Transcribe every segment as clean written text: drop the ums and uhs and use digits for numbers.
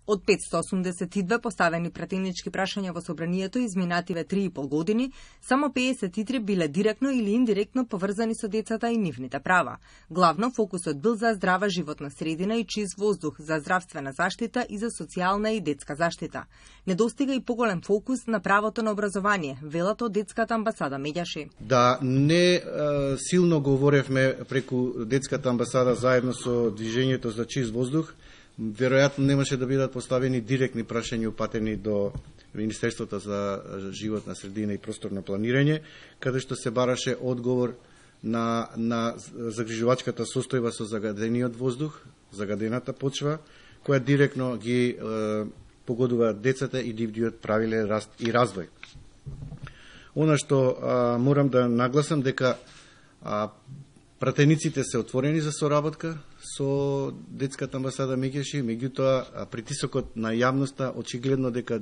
Од 582 поставени пратенички прашања во собранието изминативе 3,5 години, само 53 биле директно или индиректно поврзани со децата и нивните права. Главно фокусот бил за здрава животна средина и чист воздух, за здравствена заштита и за социјална и детска заштита. Недостига и поголем фокус на правото на образование, велат од детската амбасада Меѓаши. Да не силно говоревме преку детската амбасада заедно со движењето за чист воздух, веројатно немаше да бидат поставени директни прашања упатени до Министерството за животна средина и просторно планирање, каде што се бараше одговор на загрижувачката состојба со загадениот воздух, загадената почва, која директно ги погодува децата и нивниот правилен раст и развој. Она што морам да нагласам дека пратениците се отворени за соработка со детската амбасада Меѓаши, меѓутоа притисокот на јавноста очигледно дека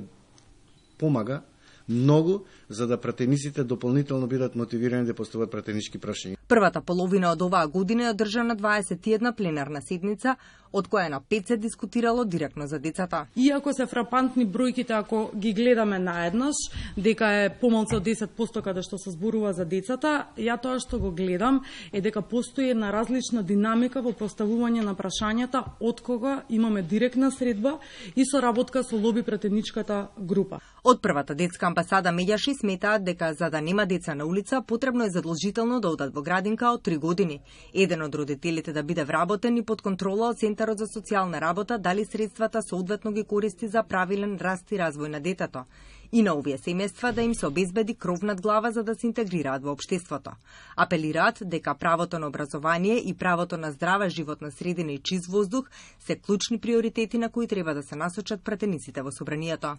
помага многу за да пратениците дополнително бидат мотивирани да постават пратенички прашања. Првата половина од оваа година е одржана 21 пленарна седница, од која на 5 се дискутирало директно за децата. Иако се фрапантни бројките ако ги гледаме наеднаш, дека е помалку од 10% каде што се зборува за децата, ја тоа што го гледам е дека постои една различна динамика во поставување на прашањата од кога имаме директна средба и соработка со лоби пратеничката група. Од првата детска амбасада Меѓаши сметаат дека за да нема деца на улица, потребно е задолжително да одат во градинка од 3 години. Еден од родителите да биде вработен и под контрола од Центарот за социјална работа дали средствата соодветно ги користи за правилен раст и развој на детето. И на овие семејства да им се обезбеди кров над глава за да се интегрираат во општеството. Апелираат дека правото на образование и правото на здрава животна средина и чист воздух се клучни приоритети на кои треба да се насочат пратениците во собранието.